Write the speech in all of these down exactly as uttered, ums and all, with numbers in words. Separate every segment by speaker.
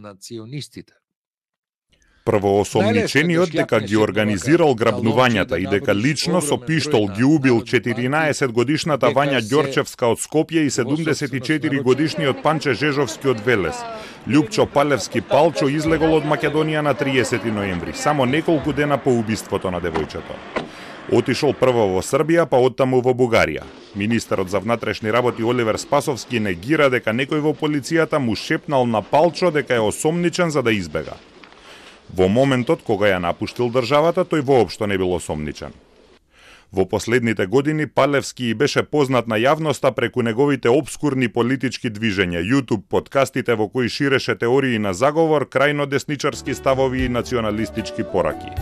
Speaker 1: национистите.
Speaker 2: Првоосомничениот дека ги организирал грабнувањата и дека лично со пиштол ги убил четиринаесетгодишната Вања Ѓорчевска од Скопје и седумдесет и четири годишниот Панче Жежовски од Велес. Љупчо Палевски Палчо излегол од Македонија на триесети ноември, само неколку дена по убиството на девојчето. Отишол прво во Србија, па оттаму во Бугарија. Министерот за внатрешни работи Оливер Спасовски негира дека некој во полицијата му шепнал на Палчо дека е осомничен за да избега. Во моментот кога ја напуштил државата, тој воопшто не бил осомничен. Во последните години Палевски и беше познат на јавноста преку неговите обскурни политички движења, YouTube подкастите во кои ширеше теории на заговор, крајно десничарски ставови и националистички пораки.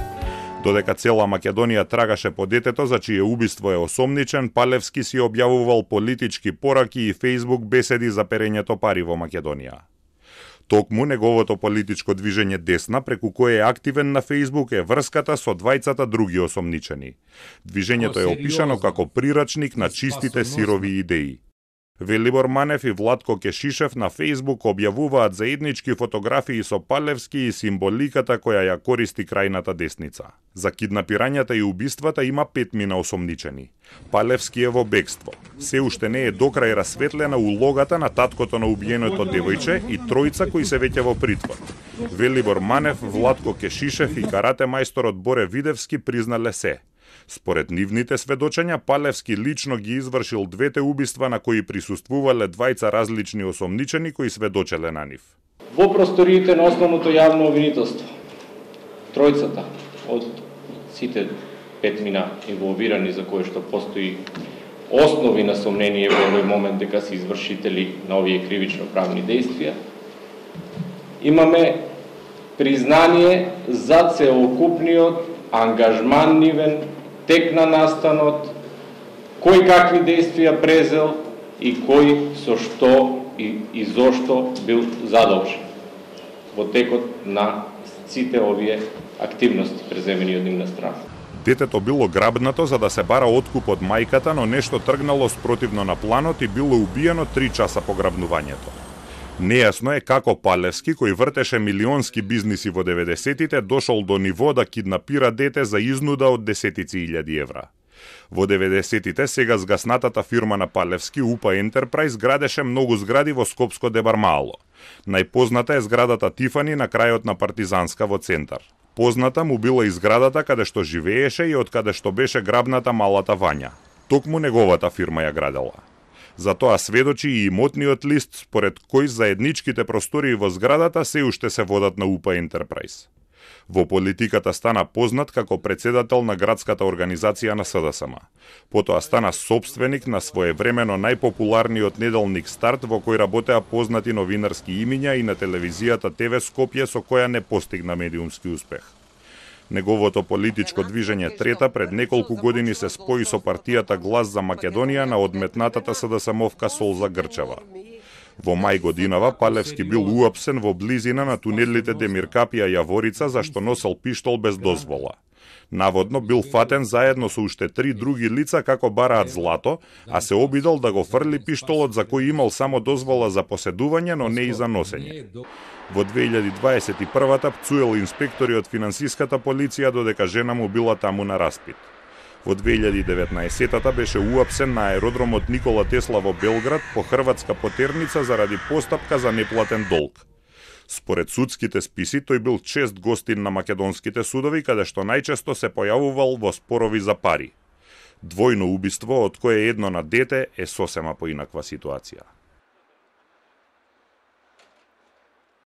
Speaker 2: Додека цела Македонија трагаше по детето за чие убиство е осомничен, Палевски си објавувал политички пораки и Facebook беседи за перењето пари во Македонија. Токму неговото политичко движење Десна, преку кое е активен на Facebook, е врската со двајцата други осомничени. Движењето е опишано како прирачник на чистите сирови идеи. Велибор Манев и Владко Кешишев на Facebook објавуваат заеднички фотографии со Палевски и символиката која ја користи крајната десница. За киднапирањата и убиствата има петмина осомничени. Палевски е во бегство. Се уште не е докрај расветлена улогата на таткото на убиеното девојче и тројца кои се веќе во притвор. Велибор Манев, Владко Кешишев и карате мајсторот Боре Видевски признале се. Според нивните сведочења, Палевски лично ги извршил двете убиства на кои присуствувале двајца различни осомничени кои сведочеле на нив.
Speaker 3: Во просториите на основното јавно обвинителство, тројцата од сите петмина инволвирани за кои што постои основи на сомнение во овој момент дека се извршители на овие кривично-правни дејствија, имаме признание за целокупниот ангажман нивен, тек на настанот, кој какви действија презел и кој со што и, и зошто бил задолжен во текот на сите овие активности преземени од нивна страна.
Speaker 2: Детето било грабнато за да се бара откуп од мајката, но нешто тргнало спротивно на планот и било убиено три часа по грабнувањето. Нејасно е како Палевски, кој вртеше милионски бизниси во деветдесетите, дошол до ниво да киднапира дете за изнуда од десетици илјади евра. Во деветдесетите сега згаснатата фирма на Палевски, УПА Ентерпрајз, градеше многу згради во Скопско Дебармало. Најпозната е зградата Тифани на крајот на Партизанска во центар. Позната му била и зградата каде што живееше и од каде што беше грабната малата Вања. Токму неговата фирма ја градела. За тоа сведочи и имотниот лист според кој заедничките простории во зградата се уште се водат на УПА Ентерпрајз. Во политиката стана познат како председател на градската организација на СДСМ. Потоа стана собственик на своевремено најпопуларниот неделник Старт, во кој работеа познати новинарски имиња, и на телевизијата ТВ Скопје, со која не постигна медиумски успех. Неговото политичко движење Трета пред неколку години се спои со партијата Глас за Македонија на одметнатата СДСМовка Солза Грчева. Во мај годинава Палевски бил уапсен во близина на тунелите Демиркапија Јаворица зашто носел пиштол без дозвола. Наводно бил фатен заедно со уште три други лица како бараат злато, а се обидел да го фрли пиштолот за кој имал само дозвола за поседување, но не и за носење. Во две илјади дваесет и прва пцуел инспектори од финансиската полиција додека жена му била таму на распит. Во две илјади и деветнаесета беше уапсен на аеродромот Никола Тесла во Белград по хрватска потерница заради постапка за неплатен долг. Според судските списи, тој бил чест гостин на македонските судови, каде што најчесто се појавувал во спорови за пари. Двојно убиство, од кое едно на дете, е сосема поинаква ситуација.